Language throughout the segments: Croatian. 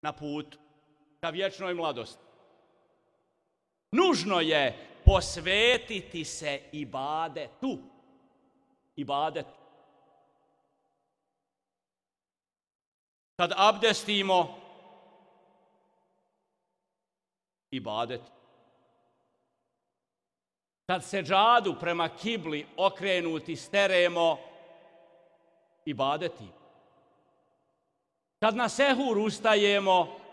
na putu ka vječnoj mladosti. Nužno je posvetiti se ibadetu. Ibadetu. Kad abdestimo, ibadet. Kad seđadu prema kibli okrenuti steremo, ibadeti. Kad na sehur ustajemo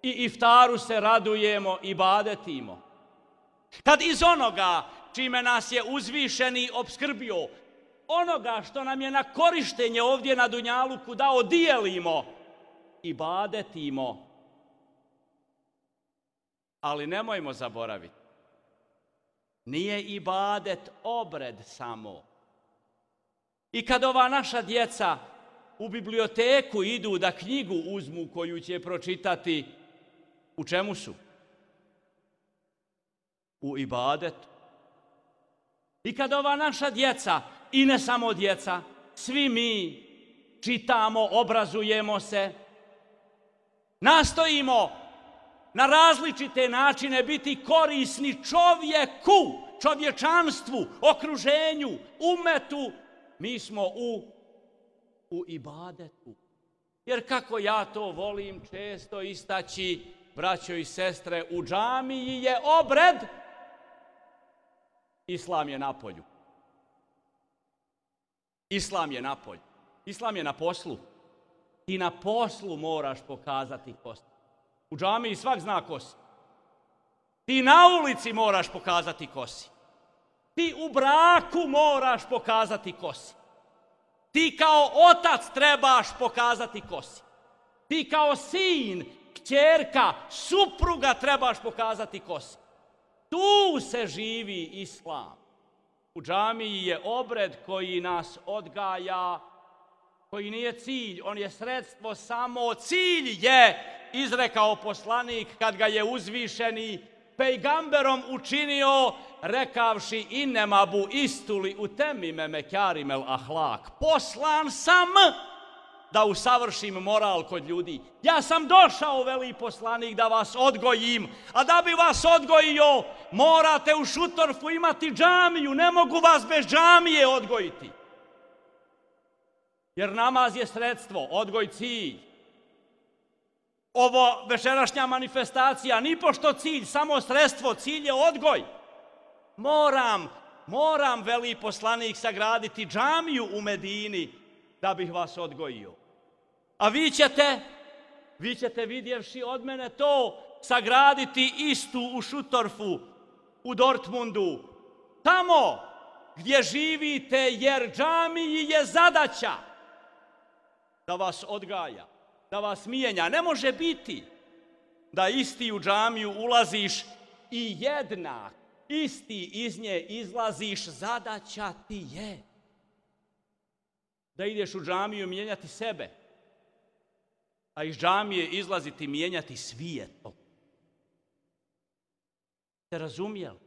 i iftaru se radujemo, ibadetimo. Kad iz onoga čime nas je uzvišeni opskrbio, onoga što nam je na korištenje ovdje na dunjaluku dao, dijelimo, ibadetimo. Ali nemojmo zaboraviti, nije ibadet obred samo. I kad ova naša djeca u biblioteku idu da knjigu uzmu koju će pročitati, u čemu su? U ibadetu. I kad ova naša djeca, i ne samo djeca, svi mi čitamo, obrazujemo se, nastojimo na različite načine biti korisni čovjeku, čovječanstvu, okruženju, umetu, mi smo u ibadetu. Jer kako ja to volim često istaći, braćo i sestre, u džamiji je obred, islam je napolju. Islam je napolju. Islam je na poslu. Ti na poslu moraš pokazati ko si. U džamiji svak zna ko si. Ti na ulici moraš pokazati ko si. Ti u braku moraš pokazati ko si. Ti kao otac trebaš pokazati ko si. Ti kao sin, kćerka, supruga trebaš pokazati ko si. Tu se živi islam. U džamiji je obred koji nas odgaja, koji nije cilj, on je sredstvo samo. Cilj je, izrekao poslanik kad ga je uzvišeni pejgamberom učinio, rekavši innema bu istuli u temime mekarimel ahlak. Poslan sam da usavršim moral kod ljudi. Ja sam došao, veli poslanik, da vas odgojim, a da bi vas odgojio, morate u Šutorfu imati džamiju, ne mogu vas bez džamije odgojiti. Jer namaz je sredstvo, odgoj cilj. Ovo večerašnja manifestacija, nipošto cilj, samo sredstvo, cilj je odgoj. Moram, veli poslanik, sagraditi džamiju u Medini da bih vas odgojio. A vi ćete vidjevši od mene to, sagraditi istu u Šutorfu, u Dortmundu, tamo gdje živite, jer džamiji je zadaća da vas odgaja, da vas mijenja. Ne može biti da isti u džamiju ulaziš i jednak, isti iz nje izlaziš. Zadaća ti je da ideš u džamiju mijenjati sebe, a iz džamije izlaziti mijenjati svijet. Ste razumjeli?